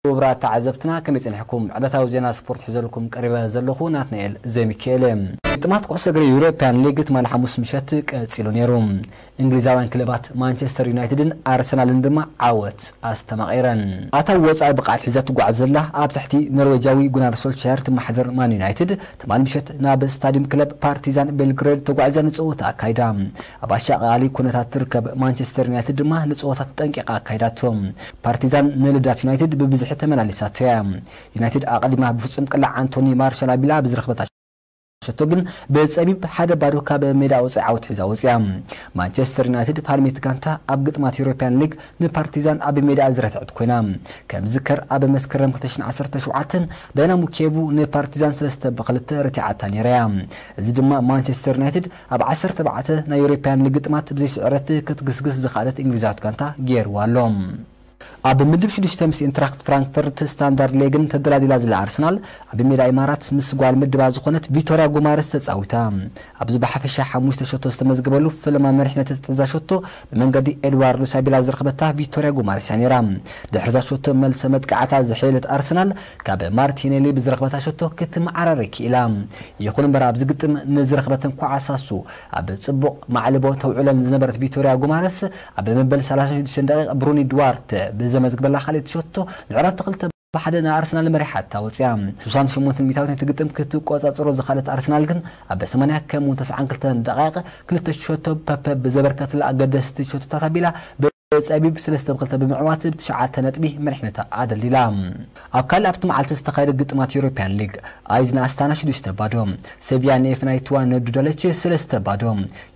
ክቡራት ተዓዘብትና፣ ከመይ ጸኒሕኩም? ዕለታዊ ዜና ስፖርት ሒዘልኩም ቀሪበ ዘለኹ ናትናኤል ዘሚካኤል እየ። ግጥማት ኩዕሶ እግሪ ዩሮፕያን ሊግ ትማሊ ሓሙስ ምሸት ቀጺሉ ነይሩ። እንግሊዛውያን ክለባት ማንቸስተር ዩናይትድን ኣርሰናልን ድማ ዓወት ኣስተማቒረን። ኣታ ወጻኢ ብቕዓት ሒዛ ትጓዓዝ ዘላ ኣብ ትሕቲ ኖርዌጃዊ ጉናር ሶልሻየር ትመሓደር ማን ዩናይትድ ትማሊ ምሸት ናብ ስታዲየም ክለብ ፓርቲዛን ቤልግሬድ ተጓዒዛ ንጸወታ ኣካይዳ። ኣብ ኣሻቓሊ ኩነታት ትርከብ ማንቸስተር ዩናይትድ ድማ ንጸወታ ተጠንቂቓ ኣካይዳቶ። ፓርቲዛን ንልዳት ዩናይትድ ብብዝሒ ተመላሊሳቶ እያ። ዩናይትድ ኣቐዲማ ብፍጹም ቅላዕ ኣንቶኒ ማርሻል ኣቢላ ብዝረኽበታ ሸቶ ግን ብጸቢብ ሓደ ባዶ ካብ ሜዳ ወጻኢ ዓወት ሒዛ ወጽያ። ማንቸስተር ዩናይትድ ፋልሜት ጋንታ ኣብ ግጥማት ዩሮፕያን ሊግ ንፓርቲዛን ኣብ ሜዳ ዝረትዐት ኮይና፣ ከም ዝከር ኣብ መስከረም ክልተ ሽሕን ዓሰርተ ሸውዓተን ዳይናሞ ኪየቭ ንፓርቲዛን ሰለስተ ብክልተ ረቲዓታ ነይራ እያ። እዚ ድማ ማንቸስተር ዩናይትድ ኣብ ዓሰርተ ኣርባዕተ ናይ ዩሮፕያን ሊግ ግጥማት ብዘይስዕረት ክትግስግስ ዝኽኣለት እንግሊዛዊት ጋንታ ገይርዋ ኣሎ። ኣብ ምድብ ሽዱሽተ ምስ ኢንትራክት ፍራንክፈርት ስታንዳርድ ሌግን ተደላዲላ ዘላ ኣርሰናል ኣብ ሜዳ ኢማራት ምስ ጓል ምድባ ዝኾነት ቪቶሪያ ጉማረስ ተጻዊታ። ኣብዚ ብሓፈሻ ሓሙሽተ ሸቶ ዝተመዝገበሉ ፈለማ መሪሕነት እትሕዛ ሸቶ ብመንገዲ ኤድዋርዶ ሳቢላ ዝረኽበታ ቪቶሪያ ጉማረስ እያ ነይራ። ድሕርዛ ሸቶ መልሰ መጥቃዕታ ዝሕየለት ኣርሰናል ካብ ማርቲኔሊ ብዝረኽበታ ሸቶ ክትመዓራረ ክኢላ። ይኹን እምበር ኣብዚ ግጥም ንዝረኽበተን ኳዕሳሱ ኣብ ጽቡቕ ማዕልቦ ተውዕለን ዝነበረት ቪቶሪያ ጉማረስ ኣብ መበል ሰላሳ ሽዱሽተ ደቂቕ ብሩኒ ድዋርተ ብዘመዝግበላ ካልኣይቲ ሸቶ ንዕረፍቲ ክልተ ብሓደ ንኣርሰናል መሪሓታ ወጽያ። ሽሳን ሸሞንተን ሚታዊት ነቲ ግጥም ክትቆጻጸሮ ዝኽኣለት ኣርሰናል ግን ኣብ ሰማንያ ከምኡውን ተስዓን ክልተን ደቂቕ ክልተ ሸቶ ፐፐ ብዘበርከትላ ኣገደስቲ ሸቶታት ኣቢላ ብጸቢብ ሰለስተ ብክልተ ብምዕዋት ብትሽዓተ ነጥቢ መሪሕነታ ኣደልዲላ። ኣብ ካልእ ኣብቲ መዓልቲ ዝተኻየደ ግጥማት ዩሮፕያን ሊግ ኣይዝ ንኣስታና ሽዱሽተ ባዶ፣ ሴቪያ ንኤፍናይትዋ ንዱዳለች ሰለስተ ባዶ፣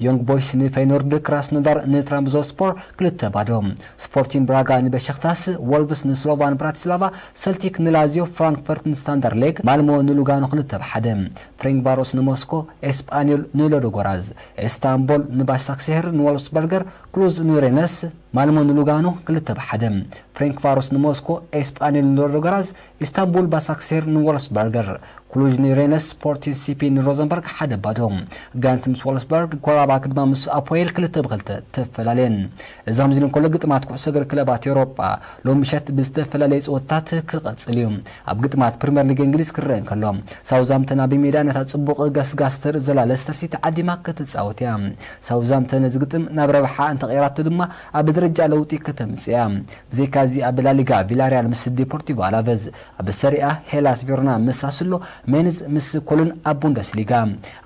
ዮንግ ቦይስ ንፈይኖርድ፣ ክራስኖዳር ንትራምዞስፖር ክልተ ባዶ፣ ስፖርቲን ብራጋ ንበሸክታስ፣ ወልቭስ ንስሎቫን ብራቲስላቫ፣ ሰልቲክ ንላዚዮ፣ ፍራንክፈርት ንስታንዳር ሌግ፣ ማልሞ ንሉጋኖ ክልተ ብሓደ፣ ፍሬንክቫሮስ ንሞስኮ፣ ኤስጳኒዮል ንሎዶጎራዝ፣ ኤስታንቦል ንባሳክሴህር ንወልፍስበርገር፣ ክሉዝ ንሬነስ፣ ማልሞ ንሉጋኖ ክልተ ብሓደ፣ ፍሬንክቫሮስ ንሞስኮ፣ ኤስጳኒዮል ንሎዶጎራዝ፣ ኢስታንቡል ባሳክሴር ንወልፍስበርገር፣ ክሉጅ ንሬነስ፣ ስፖርቲን ሲፒ ንሮዘንበርግ ሓደ ባዶ። ጋንት ምስ ወልፍስበርግ፣ ኮራባክ ድማ ምስ ኣፖኤል ክልተ ብክልተ ተፈላለየን። እዚ ከምዚ ኢሉ እንከሎ ግጥማት ኩዕሶ እግሪ ክለባት ኤውሮጳ ሎሚ ምሸት ብዝተፈላለየ ጸወታታት ክቐጽል እዩ። ኣብ ግጥማት ፕሪምየር ሊግ እንግሊዝ ክረአ እንከሎ ሳውዝሃምተን ኣብ ሜዳ ነታ ጽቡቕ ገስጋስ ተርኢ ዘላ ለስተር ሲቲ ዓዲማ ክትጻወት እያ። ሳውዝሃምተን ነዚ ግጥም ናብ ረብሓ እንተቐይራቶ ድማ ኣብ ደረጃ ለውጢ ከተምጽእ እያ። ብዘይካዚ ኣብ ላሊጋ ቪላሪያል ምስ ዴፖርቲቮ ኣላቨዝ፣ ኣብ ሰሪኣ ሄላስ ቬሮና ምስ ሳሱሎ፣ ሜንዝ ምስ ኮሎን ኣብ ቡንደስሊጋ፣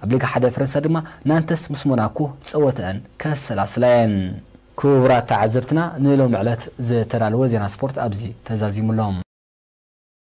ኣብ ሊጋ ሓደ ፈረንሳ ድማ ናንተስ ምስ ሞናኮ ጸወተአን ከሰላስላ እየን። ክቡራት ተዓዘብትና ንሎሚ ዕለት ዝተዳለወ ዜና ስፖርት ኣብዚ ተዛዚሙ ኣሎ።